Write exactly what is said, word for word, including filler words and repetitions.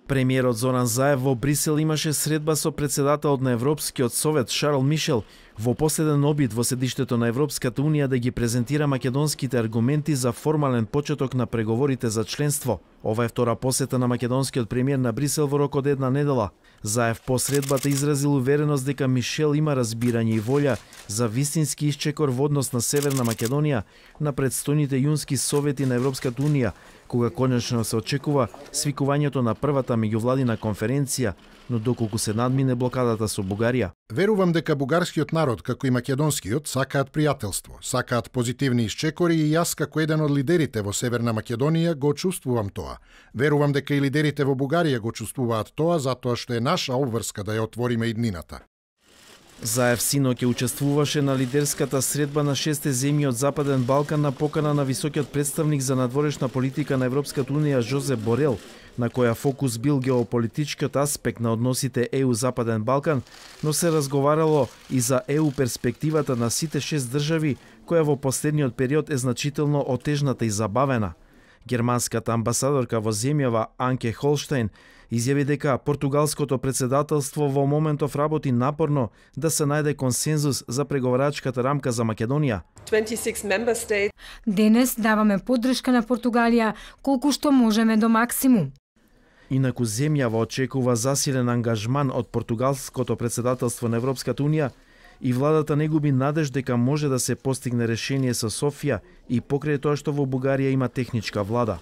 Премиерот Зоран Заев во Брисел имаше средба со председателот на Европскиот совет Шарл Мишел во последен обид во седиштето на Европската унија да ги презентира македонските аргументи за формален почеток на преговорите за членство. Ова е втора посета на македонскиот премиер на Брисел во рок од една недела. Заев по средбата изразил увереност дека Мишел има разбирање и волја за вистински исчекор во однос на Северна Македонија на предстојните јунски совети на Европската унија, кога конечно се очекува свикувањето на првата меѓувладина конференција, но доколку се надмине блокадата со Бугарија. Верувам дека бугарскиот народ, како и македонскиот, сакаат пријателство, сакаат позитивни исчекори и јас како еден од лидерите во Северна Македонија го чувствувам тоа. Верувам дека и лидерите во Бугарија го чувствуваат тоа, затоа што е наша обврска да ја отвориме иднината. Заев синоќа учествуваше на лидерската средба на шесте земји од Западен Балкан на покана на високиот представник за надворешна политика на Европската унија Жозеп Борел, на која фокус бил геополитичкиот аспект на односите Е У-Западен Балкан, но се разговарало и за Е У перспективата на сите шест држави, која во последниот период е значително отежната и забавена. Германската амбасадорка во земјава Анке Холштайн изјави дека португалското председателство во моментов работи напорно да се најде консензус за преговарачката рамка за Македонија. Денес даваме поддршка на Португалија колку што можеме до максимум. Инаку земјава очекува засилен ангажман од португалското председателство на Европската унија и владата не губи надеж дека може да се постигне решение со Софија и покрај тоа што во Бугарија има техничка влада.